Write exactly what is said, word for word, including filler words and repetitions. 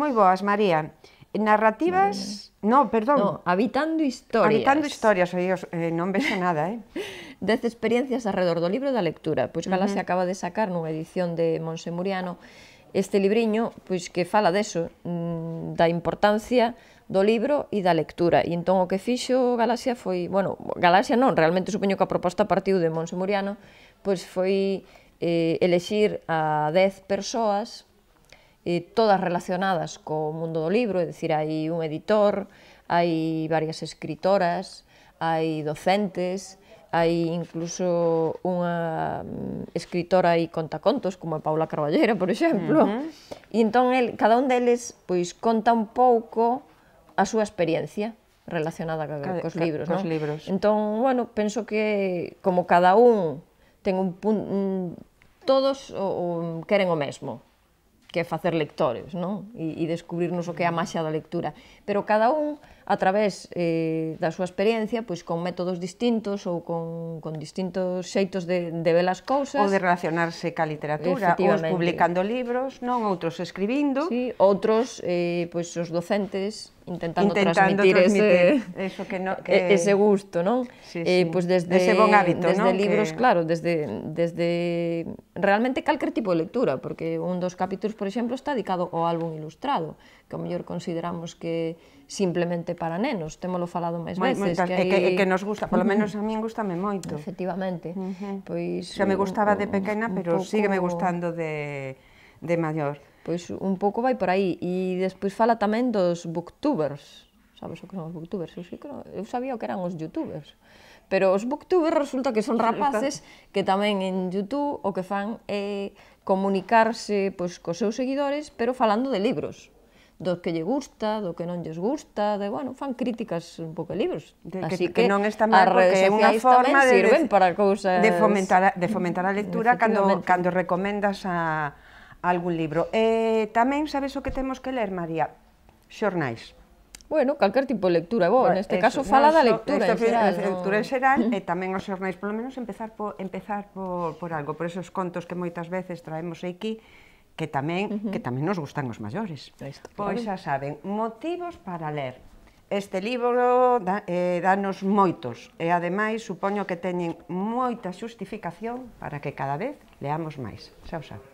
moi boas, María. Narrativas... No, perdón. No, Habitando Historias. Habitando Historias, aí eh, non vexo nada, eh? Dez experiencias alrededor do libro e da lectura. Pois Galaxia uh -huh. acaba de sacar nunha edición de Monse Muriano este libriño, pois que fala deso, da importancia do libro e da lectura. E entón o que fixo Galaxia foi, bueno, Galaxia non, realmente supoño que a proposta partiu de Monse Muriano, pois foi eh, elexir a dez persoas, eh, todas relacionadas co mundo do libro, é dicir, hai un editor, hai varias escritoras, hai docentes, hai incluso unha escritora e contacontos, como a Paula Carballera, por exemplo, uh -huh. e entón el, cada un deles pois, conta un pouco a súa experiencia relacionada ca, cos libros, cos non? libros. Entón, bueno, penso que como cada un ten un punto, todos o, o, queren o mesmo, que é facer lectores, non? E, e descubrirnos o que é a maxia da lectura. Pero cada un, a través eh, da súa experiencia, pois con métodos distintos ou con, con distintos xeitos de, de ver as cousas. Ou de relacionarse ca literatura, uns publicando libros, non, outros escribindo. Sí, outros, eh, pois os docentes, intentando, intentando transmitir, transmitir ese, eso que no, que... ese gusto, non? Sí, eh, sí. Pois desde, ese bon hábito, desde non? libros, que... claro, desde, desde realmente calquer tipo de lectura, porque un dos capítulos, por exemplo, está dedicado ao álbum ilustrado, que ao mellor consideramos que simplemente para nenos, témolo falado máis veces. Que, hai... que, que nos gusta, polo menos a min gustame moito. Efectivamente. Uh -huh. Pois, xa me gustaba de pequena, pero pouco... sígueme gustando de, de maior. Pois un pouco vai por aí. E despois fala tamén dos booktubers. Sabes o que son os booktubers? Eu, sí que non... Eu sabía o que eran os youtubers. Pero os booktubers resulta que son rapaces que tamén en YouTube o que fan é comunicarse pois, cos seus seguidores, pero falando de libros. Do que lle gusta, do que non lles gusta, de, bueno, fan críticas un pouco de libros. De, Así que, que, que non está mal, porque é unha forma de, sirven para cousas... de, fomentar, a, de fomentar a lectura cando, cando recomendas a, a algún libro. Eh, tamén sabes o que temos que ler, María? Xornais. Bueno, calquer tipo de lectura, bo, bueno, neste caso fala da lectura en xeral. Lectura en xeral, e tamén os xornais, polo menos, empezar por, empezar por, por algo, por esos contos que moitas veces traemos aquí, que tamén, uh -huh. que tamén nos gustan os maiores. Pois xa saben, motivos para ler. Este libro da, eh, danos moitos, e ademais supoño que teñen moita xustificación para que cada vez leamos máis. Xa o saben.